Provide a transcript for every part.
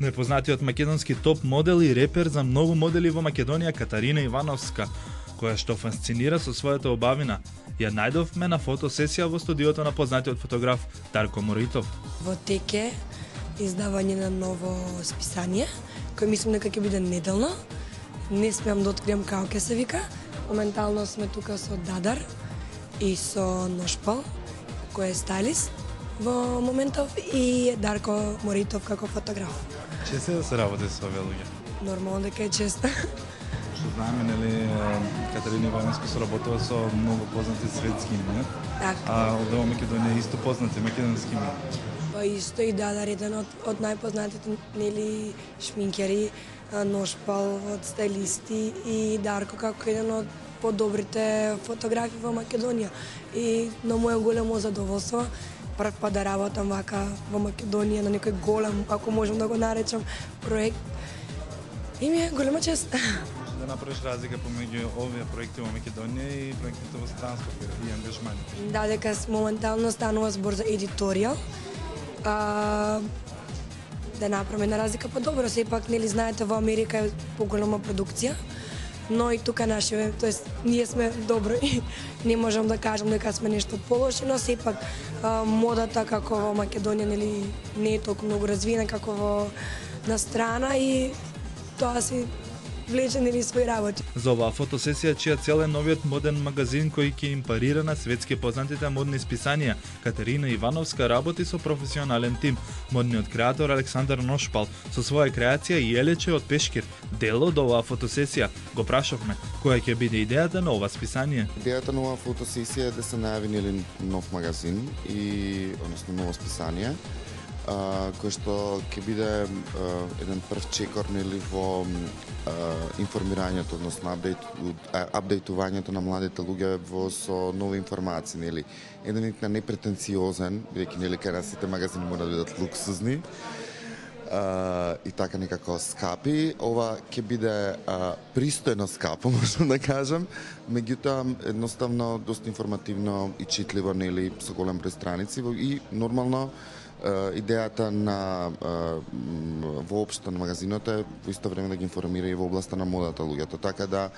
Непознатиот македонски топ модел и репер за многу модели во Македонија Катарина Ивановска, која што фасцинира со својата убавина, ја најдовме на фотосесија во студиото на познатиот фотограф Дарко Моритов. Во теке издавање на ново списание, кој мислам дека ќе биде неделно. Не смеам да откриам како ќе се вика. Моментално сме тука со Дадар и со Ношпал, кој е стайлист во моментов, и Дарко Моритов како фотограф. Често да се работи со овие луѓе? Нормално дека е често. Што знаеме, нели, Катарина Ивановска соработува со многу познати светски имена, а овде во Македонија исто познати македонски имена. Па исто и Дадар, еден од најпознатите, нели, шминкери, Ношпал од стайлисти и Дарко како еден од подобрите фотографи во Македонија. И на моје големо задоволство прв пат да работам вака во Македонија на некој голем, ако можам да го наречам, проект. И ми е голема чест. Да направиш разлика помеѓу овие проекти во Македонија и проектите во странство и ангажмани. Да, дека моментално станува збор за едиторијал. Да направиме една разлика по-добро, сепак нели знаете во Америка е поголема продукција, но и тука нашиве, тоест ние сме добро и не можам да кажам дека сме нешто полоши, но сепак модата како во Македонија нели не е толку многу развиена како во на страна и тоа си влече нели своји работи. За оваа фотосесија, чија цел е новиот моден магазин кој ќе им парира на светски познатите модни списанија, Катерина Ивановска работи со професионален тим. Модниот креатор Александар Ношпал со своја креација и Елече од Пешкир, дел од оваа фотосесија. Го прашавме која ќе биде идејата на ова списание. Идејата на оваа фотосесија е да се најави нели нов магазин и односно ново списание, кој што ќе биде еден прв чекор нели во информирањето, односно апдейтувањето на младите луѓе со нови информации, нели. Еден вид на непретенциозен, бидејќи нели кај нас сите магазини мора да бидат луксузни и така некако скапи. Ова ќе биде пристојно скапо, можам да кажам, меѓутоа едноставно доста информативно и читливо, нели, со голем број страници и нормално идејата на воопшто на магазинот е во исто време да ги информира и во областа на модата луѓето, така да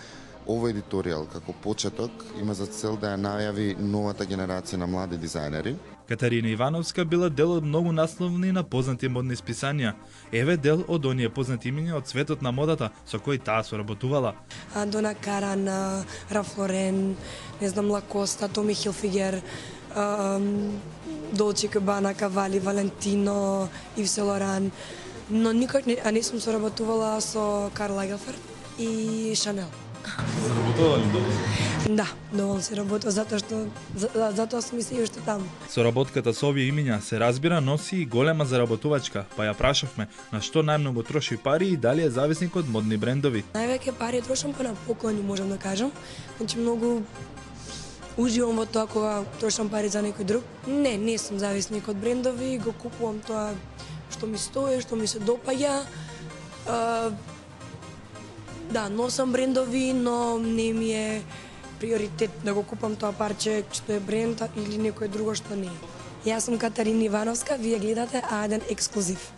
овој едиторијал како почеток има за цел да ја најави новата генерација на млади дизајнери. Катарина Ивановска била дел од многу насловни на познати модни списанија. Еве дел од оние познати имиња од светот на модата со кои таа соработувала. Дона Каран, Ралф Лорен, не знам, Лакоста, Томи Хилфигер, Долче Габана, Кавали, Валентино, Ив Сен Лоран, но никој не сум соработувала со Карл Лагерфелд и Шанел. Соработувала ли доволно? Да, доволно се работува, затоа сум и се уште таму. Соработката со овие имиња се разбира носи и голема заработувачка, па ја прашавме на што најмногу троши пари и дали е зависник од модни брендови. Највеќе пари трошам на поклони, можам да кажам. Значи многу уживам во тоа кога трошам пари за некој друг. Не сум зависник од брендови, го купувам тоа што ми стои, што ми се допаѓа. Да, носам брендови, но не ми е приоритет да го купам тоа парче што е бренд или некој друго што не е. Јас сум Катарина Ивановска, вие гледате А1 ексклузив.